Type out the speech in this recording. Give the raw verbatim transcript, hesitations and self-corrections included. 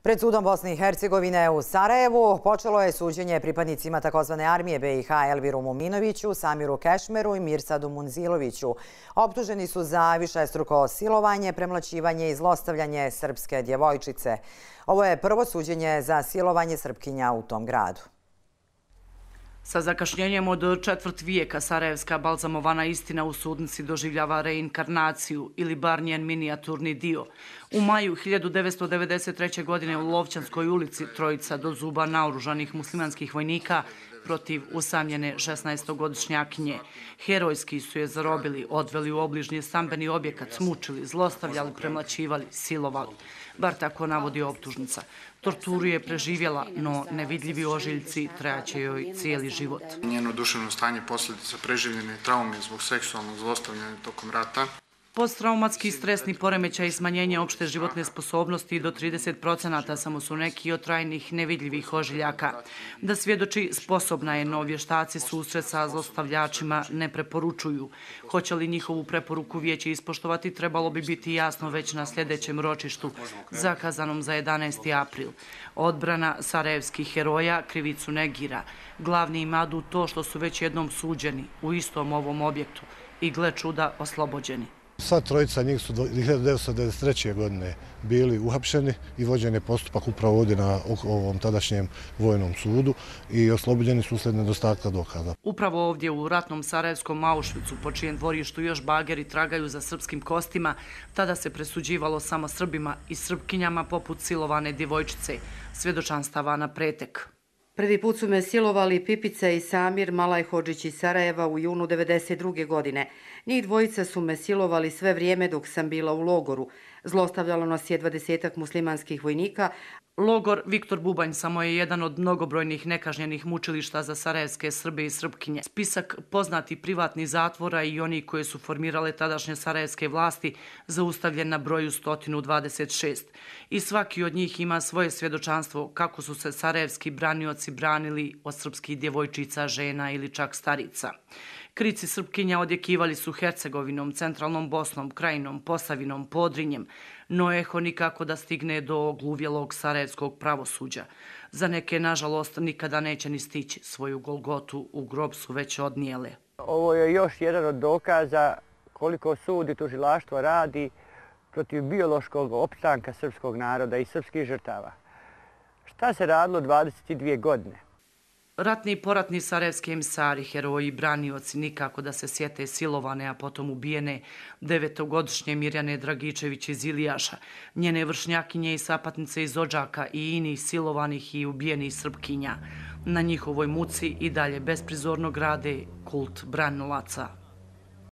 Pred sudom Bosne i Hercegovine u Sarajevu počelo je suđenje pripadnicima takozvane armije B i H Elviru Muminoviću, Samiru Kešmeru i Mirsadu Munziloviću. Optuženi su za višestruko silovanje, premlaćivanje i zlostavljanje srpske djevojčice. Ovo je prvo suđenje za silovanje Srpkinja u tom gradu. Sa zakašnjenjem od četvrt vijeka sarajevska balzamovana istina u sudnici doživljava reinkarnaciju ili bar njen minijaturni dio. U maju hiljadu devetsto devedeset treće. godine u Lovćanskoj ulici trojica do zuba naoružanih muslimanskih vojnika protiv usamljene šesnaestogodišnjakinje. Herojski su je zarobili, odveli u obližnji stambeni objekat, mučili, zlostavljali, premlaćivali, silovali. Bar tako navodi optužnica. Torturu je preživjela, no nevidljivi ožiljci trajaće joj cijeli život. Njeno duševno stanje posljedica preživljene traume zbog seksualnog zlostavljanja tokom rata. Posttraumatski stresni poremećaj i smanjenje opšte životne sposobnosti do trideset procenata samo su neki od trajnih nevidljivih ožiljaka. Da svjedoči sposobna je, no vještaci susret sa zlostavljačima ne preporučuju. Hoće li njihovu preporuku vijeće ispoštovati, trebalo bi biti jasno već na sljedećem ročištu, zakazanom za jedanaesti april. Odbrana sarajevskih heroja krivicu negira. Glavni imadu to što su već jednom suđeni u istom ovom objektu i gle čuda oslobođeni. Sva trojica njih su do hiljadu devetsto devedeset treće. godine bili uhapšeni i vođen je postupak upravo ovdje na ovom tadašnjem vojnom sudu i oslobođeni su uslijed nedostatka dokaza. Upravo ovdje u ratnom sarajevskom Auschwitzu, po čijem dvorištu još bageri tragaju za srpskim kostima, tada se presuđivalo samo Srbima i Srpkinjama poput silovane djevojčice, svjedočanstava na pretek. Prvi put su me silovali Pipica i Samir Malajhodžić iz Sarajeva u junu devedeset druge. godine. Njih dvojica su me silovali sve vrijeme dok sam bila u logoru. Zlostavljalo nas je dvadesetak muslimanskih vojnika. Logor Viktor Bubanj samo je jedan od mnogobrojnih nekažnjenih mučilišta za sarajevske Srbe i Srpkinje. Spisak poznati privatnih zatvora i oni koje su formirale tadašnje sarajevske vlasti zaustavljen na broju sto dvadeset šest. I svaki od njih ima svoje svjedočanstvo kako su se sarajevski branioci branili od srpskih djevojčica, žena ili čak starica. Krici Srpkinja odjekivali su Hercegovinom, centralnom Bosnom, Krajinom, Posavinom, Podrinjem, no eho nikako da stigne do gluvjelog sarajevskog pravosuđa. Za neke, nažalost, nikada neće ni stići, svoju golgotu u grob su već odnijele. Ovo je još jedan od dokaza koliko sud i tužilaštvo radi protiv biološkog opstanka srpskog naroda i srpskih žrtava. Šta se radilo dvadeset dvije godine? Ratni i poratni sarajevski emisari, heroji i branioci nikako da se sjete silovane, a potom ubijene devetogodišnje Mirjane Dragičević iz Ilijaša, njene vršnjakinje i sapatnice iz Odžaka i inih silovanih i ubijenih Srpkinja. Na njihovoj muci i dalje besprizorno grade kult branilaca.